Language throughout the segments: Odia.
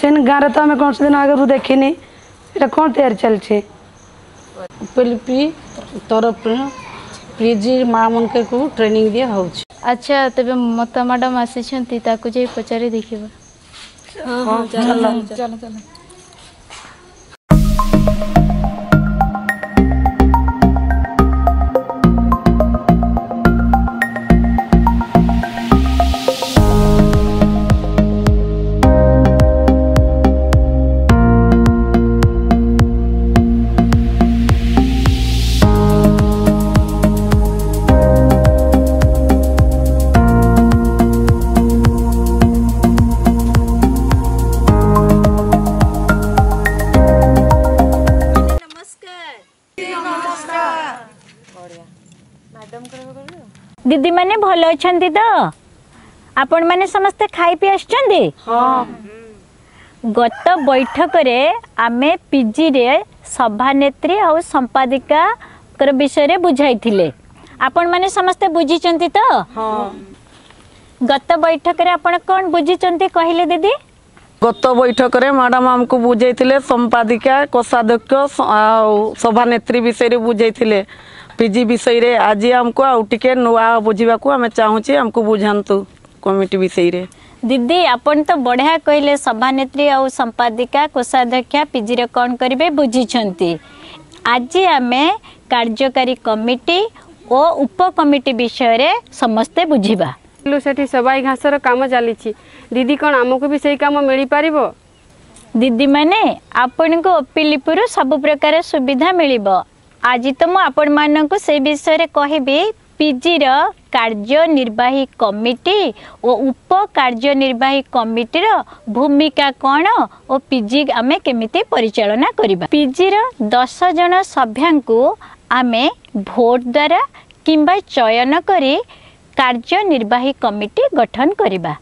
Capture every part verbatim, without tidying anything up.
ମେସିନ୍ ଗାଁରେ ତ ଆମେ କୌଣସି ଦିନ ଆଗରୁ ଦେଖିନି। ଏଇଟା କ'ଣ ତିଆରି ଚାଲିଛି? ଓପିଏଲପି ତରଫରୁ ପିଜି ମା ମାନକୁ ଟ୍ରେନିଂ ଦିଆ ହେଉଛି। ଆଚ୍ଛା, ତେବେ ମମତା ମ୍ୟାଡ଼ାମ ଆସିଛନ୍ତି, ତାକୁ ଯାଇ ପଚାରି ଦେଖିବା। ହଁ, ଚାଲ ଚାଲ ଚାଲ। ଦିଦିମାନେ ଭଲ ଅଛନ୍ତି ତ? ଆପଣମାନେ ସମସ୍ତେ ଖାଇ ପିଇ ଆସିଛନ୍ତି? ଗତ ବୈଠକରେ ଆମେ ପିଜିରେ ସଭାନେତ୍ରୀ ଆଉ ସମ୍ପାଦିକାର ବିଷୟରେ ବୁଝାଇଥିଲେ। ଆପଣମାନେ ସମସ୍ତେ ବୁଝିଛନ୍ତି ତ? ଗତ ବୈଠକରେ ଆପଣ କ'ଣ ବୁଝିଛନ୍ତି କହିଲେ ଦିଦି? ଗତ ବୈଠକରେ ମ୍ୟାଡ଼ାମ ଆମକୁ ବୁଝେଇଥିଲେ ସମ୍ପାଦିକା, କୋଷାଧ୍ୟକ୍ଷ ଆଉ ସଭାନେତ୍ରୀ ବିଷୟରେ ବୁଝେଇଥିଲେ ପିଜି ବିଷୟରେ। ଆଜି ଆମକୁ ଆଉ ଟିକେ ନୂଆ ବୁଝିବାକୁ ଆମେ ଚାହୁଁଛି, ଆମକୁ ବୁଝାନ୍ତୁ କମିଟି ବିଷୟରେ। ଦିଦି, ଆପଣ ତ ବଢ଼ିଆ କହିଲେ। ସଭାନେତ୍ରୀ ଆଉ ସମ୍ପାଦିକା, କୋଷାଧ୍ୟକ୍ଷା ପିଜିରେ କ'ଣ କରିବେ ବୁଝିଛନ୍ତି। ଆଜି ଆମେ କାର୍ଯ୍ୟକାରୀ କମିଟି ଓ ଉପକମିଟି ବିଷୟରେ ସମସ୍ତେ ବୁଝିବା। ସେଠି ସବାଇ ଘାସର କାମ ଚାଲିଛି ଦିଦି, କ'ଣ ଆମକୁ ବି ସେଇ କାମ ମିଳିପାରିବ? ଦିଦିମାନେ, ଆପଣଙ୍କୁ ଓପିଲିପିରୁ ସବୁ ପ୍ରକାର ସୁବିଧା ମିଳିବ। ଆଜି ତ ମୁଁ ଆପଣମାନଙ୍କୁ ସେ ବିଷୟରେ କହିବି। ପିଜିର କାର୍ଯ୍ୟନିର୍ବାହୀ କମିଟି ଓ ଉପ କାର୍ଯ୍ୟନିର୍ବାହୀ କମିଟିର ଭୂମିକା କ'ଣ ଓ ପିଜି ଆମେ କେମିତି ପରିଚାଳନା କରିବା। ପିଜିର ଦଶ ଜଣ ସଭ୍ୟାଙ୍କୁ ଆମେ ଭୋଟ ଦ୍ୱାରା କିମ୍ବା ଚୟନ କରି କାର୍ଯ୍ୟନିର୍ବାହୀ କମିଟି ଗଠନ କରିବା।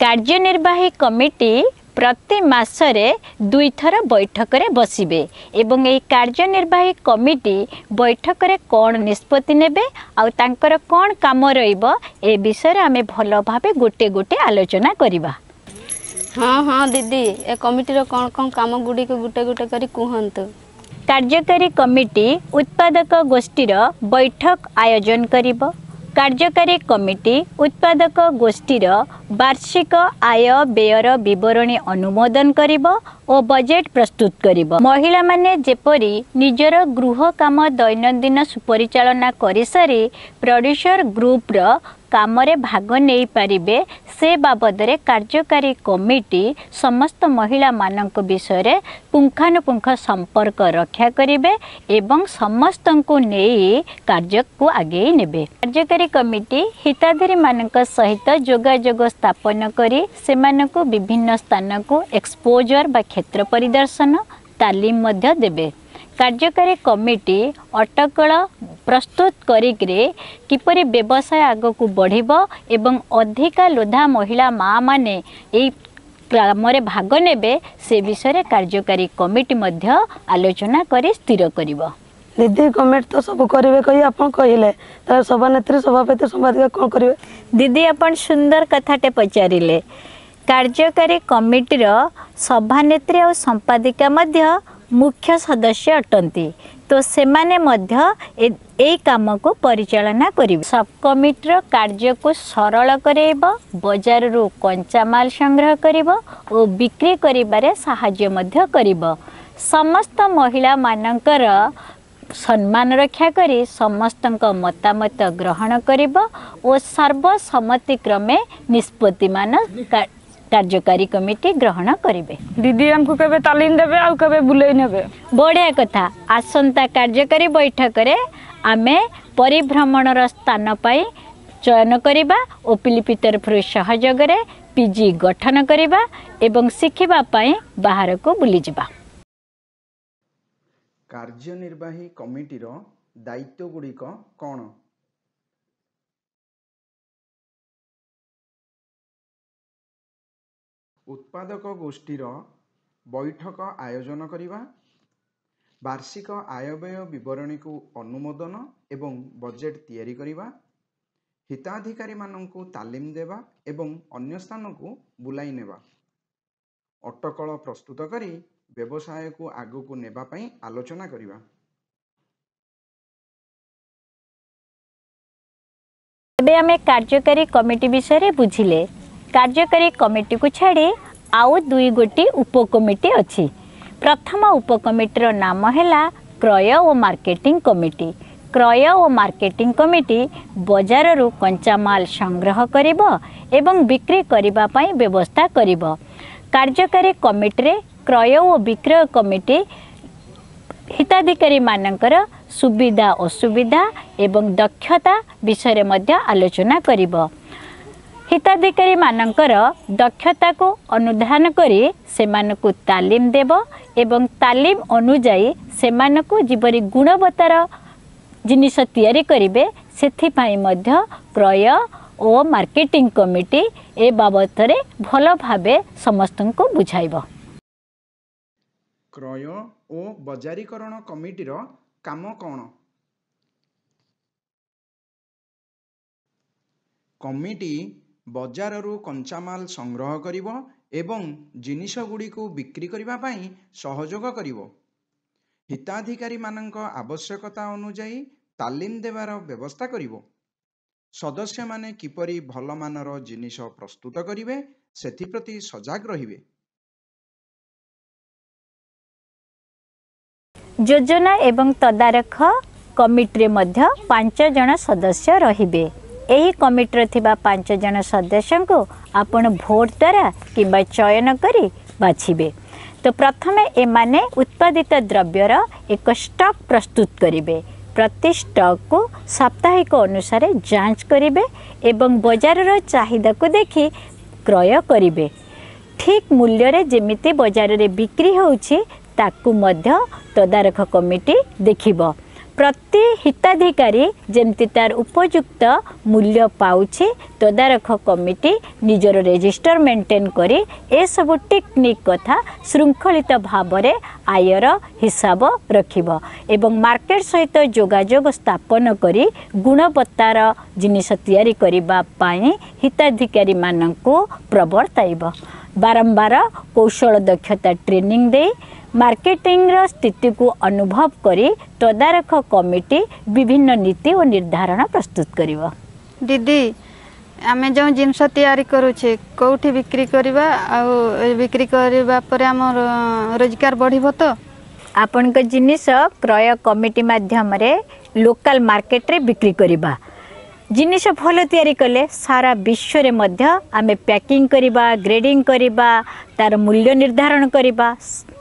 କାର୍ଯ୍ୟନିର୍ବାହୀ କମିଟି ପ୍ରତି ମାସରେ ଦୁଇଥର ବୈଠକରେ ବସିବେ ଏବଂ ଏହି କାର୍ଯ୍ୟନିର୍ବାହୀ କମିଟି ବୈଠକରେ କ'ଣ ନିଷ୍ପତ୍ତି ନେବେ ଆଉ ତାଙ୍କର କ'ଣ କାମ ରହିବ, ଏ ବିଷୟରେ ଆମେ ଭଲ ଭାବେ ଗୋଟେ ଗୋଟେ ଆଲୋଚନା କରିବା। ହଁ ହଁ ଦିଦି, ଏ କମିଟିର କ'ଣ କ'ଣ କାମ ଗୁଡ଼ିକୁ ଗୋଟେ ଗୋଟେ କରି କୁହନ୍ତୁ। କାର୍ଯ୍ୟକାରୀ କମିଟି ଉତ୍ପାଦକ ଗୋଷ୍ଠୀର ବୈଠକ ଆୟୋଜନ କରିବ। କାର୍ଯ୍ୟକାରୀ କମିଟି ଉତ୍ପାଦକ ଗୋଷ୍ଠୀର ବାର୍ଷିକ ଆୟ ବ୍ୟୟର ବିବରଣୀ ଅନୁମୋଦନ କରିବ ଓ ବଜେଟ୍ ପ୍ରସ୍ତୁତ କରିବ। ମହିଳାମାନେ ଯେପରି ନିଜର ଗୃହ କାମ ଦୈନନ୍ଦିନ ସୁପରିଚାଳନା କରିସାରି ପ୍ରଡ୍ୟୁସର ଗ୍ରୁପର କାମରେ ଭାଗ ନେଇପାରିବେ, ସେ ବାବଦରେ କାର୍ଯ୍ୟକାରୀ କମିଟି ସମସ୍ତ ମହିଳାମାନଙ୍କ ବିଷୟରେ ପୁଙ୍ଖାନୁପୁଙ୍ଖ ସମ୍ପର୍କ ରକ୍ଷା କରିବେ ଏବଂ ସମସ୍ତଙ୍କୁ ନେଇ କାର୍ଯ୍ୟକୁ ଆଗେଇ ନେବେ। କାର୍ଯ୍ୟକାରୀ କମିଟି ହିତାଧିକାରୀମାନଙ୍କ ସହିତ ଯୋଗାଯୋଗ ସ୍ଥାପନ କରି ସେମାନଙ୍କୁ ବିଭିନ୍ନ ସ୍ଥାନକୁ ଏକ୍ସପୋଜର ବା କ୍ଷେତ୍ର ପରିଦର୍ଶନ ତାଲିମ ମଧ୍ୟ ଦେବେ। କାର୍ଯ୍ୟକାରୀ କମିଟି ଅଟକଳ ପ୍ରସ୍ତୁତ କରିକିରି କିପରି ବ୍ୟବସାୟ ଆଗକୁ ବଢ଼ିବ ଏବଂ ଅଧିକା ଲୋଧା ମହିଳା ମାଆମାନେ ଏଇ କାମରେ ଭାଗ ନେବେ, ସେ ବିଷୟରେ କାର୍ଯ୍ୟକାରୀ କମିଟି ମଧ୍ୟ ଆଲୋଚନା କରି ସ୍ଥିର କରିବ। ଦିଦି, କମିଟି ତ ସବୁ କରିବେ କହି ଆପଣ କହିଲେ, ତାହେଲେ ସଭାନେତ୍ରୀ, ସଭାପତି, ସମ୍ପାଦିକା କ'ଣ କରିବେ? ଦିଦି, ଆପଣ ସୁନ୍ଦର କଥାଟେ ପଚାରିଲେ। କାର୍ଯ୍ୟକାରୀ କମିଟିର ସଭାନେତ୍ରୀ ଆଉ ସମ୍ପାଦିକା ମଧ୍ୟ ମୁଖ୍ୟ ସଦସ୍ୟ ଅଟନ୍ତି, ତ ସେମାନେ ମଧ୍ୟ ଏଇ କାମକୁ ପରିଚାଳନା କରିବେ। ସବ୍ କମିଟିର କାର୍ଯ୍ୟକୁ ସରଳ କରାଇବ, ବଜାରରୁ କଞ୍ଚାମାଲ ସଂଗ୍ରହ କରିବ ଓ ବିକ୍ରି କରିବାରେ ସାହାଯ୍ୟ ମଧ୍ୟ କରିବ। ସମସ୍ତ ମହିଳାମାନଙ୍କର ସମ୍ମାନ ରକ୍ଷା କରି ସମସ୍ତଙ୍କ ମତାମତ ଗ୍ରହଣ କରିବ ଓ ସର୍ବସମ୍ମତିକ୍ରମେ ନିଷ୍ପତ୍ତିମାନ କାର୍ଯ୍ୟକାରୀ କମିଟି ଗ୍ରହଣ କରିବେ। ଦିଦି, ଆମକୁ କେବେ ତାଲିମ ଦେବେ ଆଉ କେବେ ବୁଲେଇ ନେବେ? ବଢ଼ିଆ କଥା। ଆସନ୍ତା କାର୍ଯ୍ୟକାରୀ ବୈଠକରେ ଆମେ ପରିଭ୍ରମଣର ସ୍ଥାନ ପାଇଁ ଚୟନ କରିବା, ଓପିଲିପି ତରଫରୁ ସହଯୋଗରେ ପିଜି ଗଠନ କରିବା ଏବଂ ଶିଖିବା ପାଇଁ ବାହାରକୁ ବୁଲିଯିବା। କାର୍ଯ୍ୟନିର୍ବାହୀ କମିଟିର ଦାୟିତ୍ୱଗୁଡ଼ିକ କ'ଣ? ଉତ୍ପାଦକ ଗୋଷ୍ଠୀର ବୈଠକ ଆୟୋଜନ କରିବା, ବାର୍ଷିକ ଆୟବ୍ୟୟ ବିବରଣୀକୁ ଅନୁମୋଦନ ଏବଂ ବଜେଟ୍ ତିଆରି କରିବା, ହିତାଧିକାରୀମାନଙ୍କୁ ତାଲିମ ଦେବା ଏବଂ ଅନ୍ୟ ସ୍ଥାନକୁ ବୁଲାଇ ନେବା। ଅଟକଳ ପ୍ରସ୍ତୁତ କରି ବ୍ୟବସାୟକୁ ଆଗକୁ ନେବା ପାଇଁ ଆଲୋଚନା କରିବା। ଏବେ ଆମେ କାର୍ଯ୍ୟକାରୀ କମିଟି ବିଷୟରେ ବୁଝିଲେ। କାର୍ଯ୍ୟକାରୀ କମିଟିକୁ ଛାଡ଼ି ଆଉ ଦୁଇ ଗୋଟି ଉପକମିଟି ଅଛି। ପ୍ରଥମ ଉପକମିଟିର ନାମ ହେଲା କ୍ରୟ ଓ ମାର୍କେଟିଂ କମିଟି। କ୍ରୟ ଓ ମାର୍କେଟିଂ କମିଟି ବଜାରରୁ କଞ୍ଚାମାଲ ସଂଗ୍ରହ କରିବ ଏବଂ ବିକ୍ରି କରିବା ପାଇଁ ବ୍ୟବସ୍ଥା କରିବ। କାର୍ଯ୍ୟକାରୀ କମିଟିରେ କ୍ରୟ ଓ ବିକ୍ରୟ କମିଟି ହିତାଧିକାରୀମାନଙ୍କର ସୁବିଧା ଅସୁବିଧା ଏବଂ ଦକ୍ଷତା ବିଷୟରେ ମଧ୍ୟ ଆଲୋଚନା କରିବ। ହିତାଧିକାରୀମାନଙ୍କର ଦକ୍ଷତାକୁ ଅନୁଧ୍ୟାନ କରି ସେମାନଙ୍କୁ ତାଲିମ ଦେବ ଏବଂ ତାଲିମ ଅନୁଯାୟୀ ସେମାନଙ୍କୁ ଯେପରି ଗୁଣବତ୍ତାର ଜିନିଷ ତିଆରି କରିବେ, ସେଥିପାଇଁ ମଧ୍ୟ କ୍ରୟ ଓ ମାର୍କେଟିଂ କମିଟି ଏ ବାବଦରେ ଭଲ ଭାବେ ସମସ୍ତଙ୍କୁ ବୁଝାଇବ। କ୍ରୟ ଓ ବଜାରୀକରଣ କମିଟିର କାମ କ'ଣ? କମିଟି ବଜାରରୁ କଞ୍ଚାମାଲ ସଂଗ୍ରହ କରିବ ଏବଂ ଜିନିଷଗୁଡ଼ିକୁ ବିକ୍ରି କରିବା ପାଇଁ ସହଯୋଗ କରିବ। ହିତାଧିକାରୀମାନଙ୍କ ଆବଶ୍ୟକତା ଅନୁଯାୟୀ ତାଲିମ ଦେବାର ବ୍ୟବସ୍ଥା କରିବ। ସଦସ୍ୟମାନେ କିପରି ଭଲ ମାନର ଜିନିଷ ପ୍ରସ୍ତୁତ କରିବେ, ସେଥିପ୍ରତି ସଜାଗ ରହିବେ। ଯୋଜନା ଏବଂ ତଦାରଖ କମିଟିରେ ମଧ୍ୟ ପାଞ୍ଚ ଜଣ ସଦସ୍ୟ ରହିବେ। ଏହି କମିଟିରେ ଥିବା ପାଞ୍ଚ ଜଣ ସଦସ୍ୟଙ୍କୁ ଆପଣ ଭୋଟ ଦ୍ୱାରା କିମ୍ବା ଚୟନ କରି ବାଛିବେ। ତ ପ୍ରଥମେ ଏମାନେ ଉତ୍ପାଦିତ ଦ୍ରବ୍ୟର ଏକ ଷ୍ଟକ୍ ପ୍ରସ୍ତୁତ କରିବେ। ପ୍ରତି ଷ୍ଟକ୍କୁ ସାପ୍ତାହିକ ଅନୁସାରେ ଯାଞ୍ଚ କରିବେ ଏବଂ ବଜାରର ଚାହିଦାକୁ ଦେଖି କ୍ରୟ କରିବେ। ଠିକ୍ ମୂଲ୍ୟରେ ଯେମିତି ବଜାରରେ ବିକ୍ରି ହେଉଛି, ତାକୁ ମଧ୍ୟ ତଦାରଖ କମିଟି ଦେଖିବ। ପ୍ରତି ହିତାଧିକାରୀ ଯେମିତି ତାର ଉପଯୁକ୍ତ ମୂଲ୍ୟ ପାଉଛି, ତଦାରଖ କମିଟି ନିଜର ରେଜିଷ୍ଟର ମେଣ୍ଟେନ୍ କରି ଏସବୁ ଟେକ୍ନିକ୍ କଥା ଶୃଙ୍ଖଳିତ ଭାବରେ ଆୟର ହିସାବ ରଖିବ ଏବଂ ମାର୍କେଟ ସହିତ ଯୋଗାଯୋଗ ସ୍ଥାପନ କରି ଗୁଣବତ୍ତାର ଜିନିଷ ତିଆରି କରିବା ପାଇଁ ହିତାଧିକାରୀମାନଙ୍କୁ ପ୍ରବର୍ତ୍ତାଇବ। ବାରମ୍ବାର କୌଶଳ ଦକ୍ଷତା ଟ୍ରେନିଂ ଦେଇ ମାର୍କେଟିଂର ସ୍ଥିତିକୁ ଅନୁଭବ କରି ତଦାରଖ କମିଟି ବିଭିନ୍ନ ନୀତି ଓ ନିର୍ଦ୍ଧାରଣ ପ୍ରସ୍ତୁତ କରିବ। ଦିଦି, ଆମେ ଯେଉଁ ଜିନିଷ ତିଆରି କରୁଛେ କେଉଁଠି ବିକ୍ରି କରିବା, ଆଉ ବିକ୍ରି କରିବା ପରେ ଆମର ରୋଜଗାର ବଢ଼ିବ ତ? ଆପଣଙ୍କ ଜିନିଷ କ୍ରୟ କମିଟି ମାଧ୍ୟମରେ ଲୋକାଲ ମାର୍କେଟରେ ବିକ୍ରି କରିବା। ଜିନିଷ ଭଲ ତିଆରି କଲେ ସାରା ବିଶ୍ୱରେ ମଧ୍ୟ ଆମେ ପ୍ୟାକିଂ କରିବା, ଗ୍ରେଡ଼ିଂ କରିବା, ତାର ମୂଲ୍ୟ ନିର୍ଦ୍ଧାରଣ କରିବା,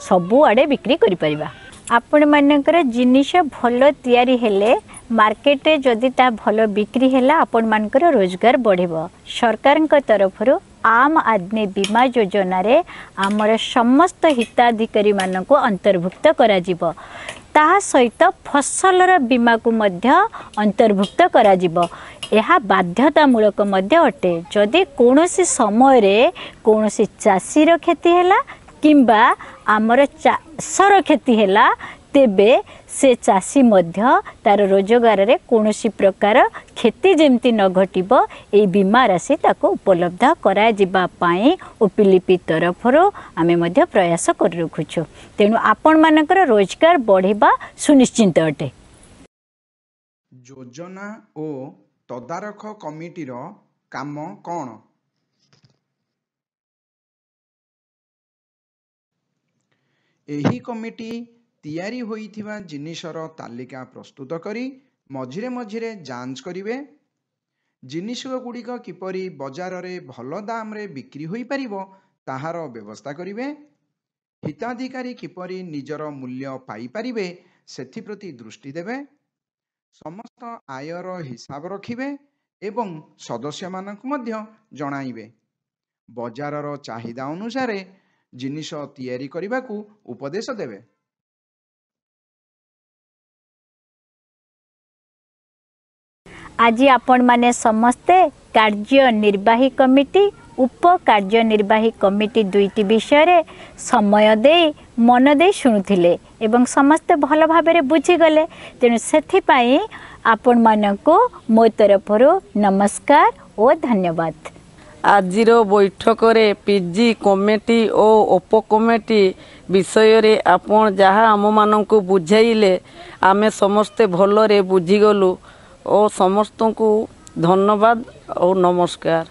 ସବୁଆଡ଼େ ବିକ୍ରି କରିପାରିବା। ଆପଣମାନଙ୍କର ଜିନିଷ ଭଲ ତିଆରି ହେଲେ ମାର୍କେଟରେ ଯଦି ତାହା ଭଲ ବିକ୍ରି ହେଲା, ଆପଣମାନଙ୍କର ରୋଜଗାର ବଢ଼ିବ। ସରକାରଙ୍କ ତରଫରୁ ଆମ୍ ଆଦମୀ ବୀମା ଯୋଜନାରେ ଆମର ସମସ୍ତ ହିତାଧିକାରୀମାନଙ୍କୁ ଅନ୍ତର୍ଭୁକ୍ତ କରାଯିବ। ତାହା ସହିତ ଫସଲର ବୀମାକୁ ମଧ୍ୟ ଅନ୍ତର୍ଭୁକ୍ତ କରାଯିବ। ଏହା ବାଧ୍ୟତାମୂଳକ ମଧ୍ୟ ଅଟେ। ଯଦି କୌଣସି ସମୟରେ କୌଣସି ଚାଷୀର କ୍ଷତି ହେଲା କିମ୍ବା ଆମର ଚାଷର କ୍ଷତି ହେଲା, ତେବେ ସେ ଚାଷୀ ମଧ୍ୟ ତାର ରୋଜଗାରରେ କୌଣସି ପ୍ରକାର କ୍ଷତି ଯେମିତି ନ ଘଟିବ, ଏଇ ବୀମା ରାଶି ତାକୁ ଉପଲବ୍ଧ କରାଯିବା ପାଇଁ ଓପିଲିପି ତରଫରୁ ଆମେ ମଧ୍ୟ ପ୍ରୟାସ କରି ରଖୁଛୁ। ତେଣୁ ଆପଣମାନଙ୍କର ରୋଜଗାର ବଢ଼ିବା ସୁନିଶ୍ଚିତ ଅଟେ। ଯୋଜନା ଓ ତଦାରଖ କମିଟିର କାମ କ'ଣ? ଏହି କମିଟି ତିଆରି ହୋଇଥିବା ଜିନିଷର ତାଲିକା ପ୍ରସ୍ତୁତ କରି ମଝିରେ ମଝିରେ ଯାଞ୍ଚ କରିବେ। ଜିନିଷଗୁଡ଼ିକ କିପରି ବଜାରରେ ଭଲ ଦାମରେ ବିକ୍ରି ହୋଇପାରିବ, ତାହାର ବ୍ୟବସ୍ଥା କରିବେ। ହିତାଧିକାରୀ କିପରି ନିଜର ମୂଲ୍ୟ ପାଇପାରିବେ, ସେଥିପ୍ରତି ଦୃଷ୍ଟି ଦେବେ। ସମସ୍ତ ଆୟର ହିସାବ ରଖିବେ ଏବଂ ସଦସ୍ୟମାନଙ୍କୁ ମଧ୍ୟ ଜଣାଇବେ। ବଜାରର ଚାହିଦା ଅନୁସାରେ ଜିନିଷ ତିଆରି କରିବାକୁ ଉପଦେଶ ଦେବେ। ଆଜି ଆପଣମାନେ ସମସ୍ତେ କାର୍ଯ୍ୟନିର୍ବାହୀ କମିଟି, ଉପ କାର୍ଯ୍ୟନିର୍ବାହୀ କମିଟି ଦୁଇଟି ବିଷୟରେ ସମୟ ଦେଇ ମନ ଦେଇ ଶୁଣୁଥିଲେ ଏବଂ ସମସ୍ତେ ଭଲ ଭାବରେ ବୁଝିଗଲେ। ତେଣୁ ସେଥିପାଇଁ ଆପଣମାନଙ୍କୁ ମୋ ତରଫରୁ ନମସ୍କାର ଓ ଧନ୍ୟବାଦ। ଆଜିର ବୈଠକରେ ପିଜି କମିଟି ଓ ଉପକମିଟି ବିଷୟରେ ଆପଣ ଯାହା ଆମମାନଙ୍କୁ ବୁଝାଇଲେ, ଆମେ ସମସ୍ତେ ଭଲରେ ବୁଝିଗଲୁ ଓ ସମସ୍ତଙ୍କୁ ଧନ୍ୟବାଦ ଓ ନମସ୍କାର।